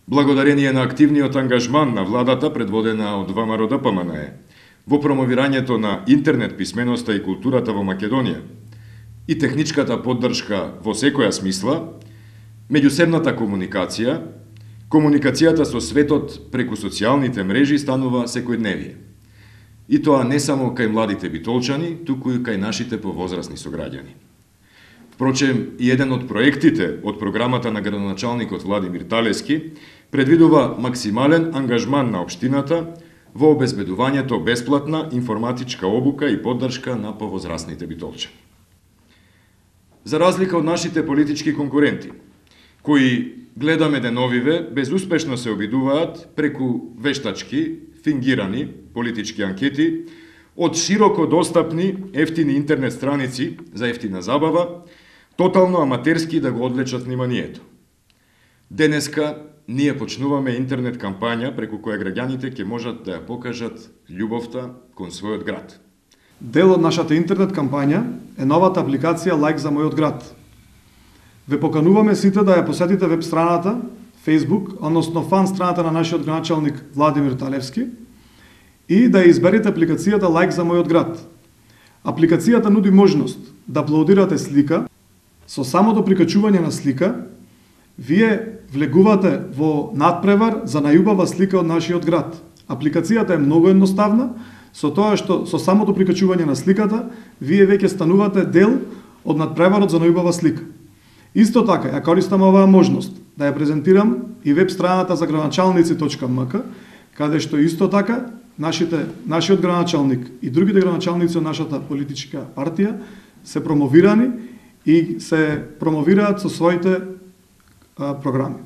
Благодарение на активниот ангажман на владата предводена од ВМРО ДПМНЕ во промовирањето на интернет писменоста и културата во Македонија и техничката поддршка во секоја смисла, меѓусебната комуникација, комуникацијата со светот преку социјалните мрежи станува секојдневие. И тоа не само кај младите битолчани, туку и кај нашите повозрасни сограѓани. Впрочем, и еден од проектите од програмата на градоначалникот Владимир Талески предвидува максимален ангажман на општината во обезбедувањето бесплатна информатичка обука и поддршка на повозрасните битолчани. За разлика од нашите политички конкуренти, кои гледаме деновиве безуспешно се обидуваат преку вештачки, фингирани политички анкети од широко достапни ефтини интернет страници за ефтина забава, тотално аматерски да го одвлечат вниманието. Денеска ние почнуваме интернет кампања преку која граѓаните ќе можат да ја покажат љубовта кон својот град. Дел од нашата интернет кампања е новата апликација Лайк за мојот град. Ве покануваме сите да ја посетите веб страната, Facebook, односно фан страната на нашиот градоначалник Владимир Талевски и да ја изберете апликацијата Лайк за мојот град. Апликацијата нуди можност да аплодирате слика. Со самото прикачување на слика, вие влегувате во надпревар за најубава слика од нашиот град. Апликацијата е многу едноставна, со тоа што со самото прикачување на сликата, вие веќе станувате дел од надпреварот за најубава слика. Исто така, ја користам оваа можност да ја презентирам и веб страната за градоначалници.мк, каде што исто така нашиот градоначалник и другите градоначалници од нашата политичка партија се промовирани и се промовираат со своите програми.